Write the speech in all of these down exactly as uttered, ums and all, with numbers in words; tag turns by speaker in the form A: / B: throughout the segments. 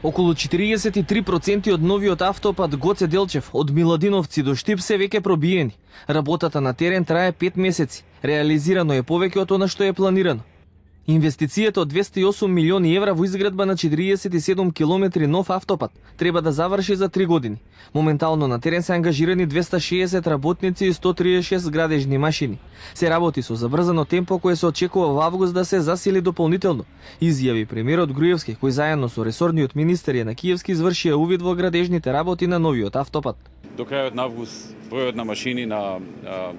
A: Околу четириесет и три проценти од новиот автопат Гоце Делчев од Миладиновци до Штип се веќе пробиени. Работата на терен трае пет месеци. Реализирано е повеќе од она што е планирано. Инвестицијата од двесте и осум милиони евра во изградба на четириесет и седум километри нов автопат треба да заврши за три години. Моментално на терен се ангажирани двесте и шеесет работници и сто триесет и шест градежни машини. Се работи со забрзано темпо кое се очекува во август да се засили дополнително, изјави премиерот Груевски, кој заедно со ресорниот министер Јана Киевски извршија увид во градежните работи на новиот автопат.
B: До крајот на август бројот на машини на а,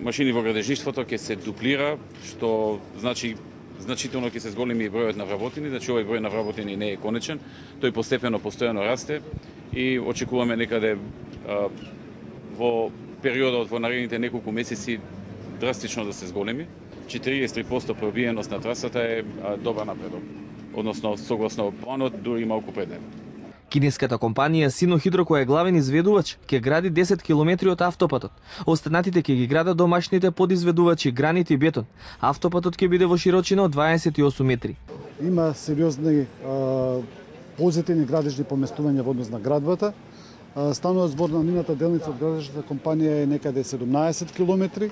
B: машини во градежништвото ќе се дуплира, што значи значително ќе се зголеми бројот на вработени, значи овој број на вработени не е конечен, тој постепено постојано расте и очекуваме некаде а, во периодот во наредните неколку месеци драстично да се зголеми. четириесет и три проценти пробиеност на трасата е а, добар напредок, односно согласно планот дури малку пред него.
A: Кинеската компанија Синохидро, која е главен изведувач, ќе гради десет километри од автопатот. Останатите ќе ги градат домашните подизведувачи гранит и бетон. Автопатот ќе биде во широчина од дваесет и осум метри.
C: Има сериозни а, позитивни градежни поместувања во однос на градбата. А, станува збор на нивната делница од градежната компанија е некаде седумнаесет километри.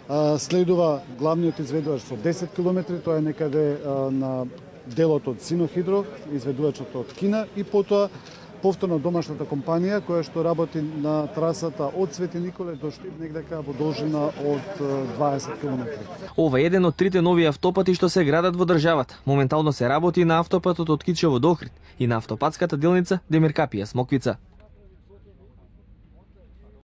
C: А, следува главниот изведувач со десет километри, тоа е некаде а, на делот од Синохидро, изведувачот од Кина и потоа повторно домашната компанија која што работи на трасата од Свети Николе до Штип негдека во должина од дваесет километри.
A: Ова е еден од трите нови автопати што се градат во државата. Моментално се работи на автопатот од Кичево до Охрид и на автопатската делница Демиркапија Смоквица.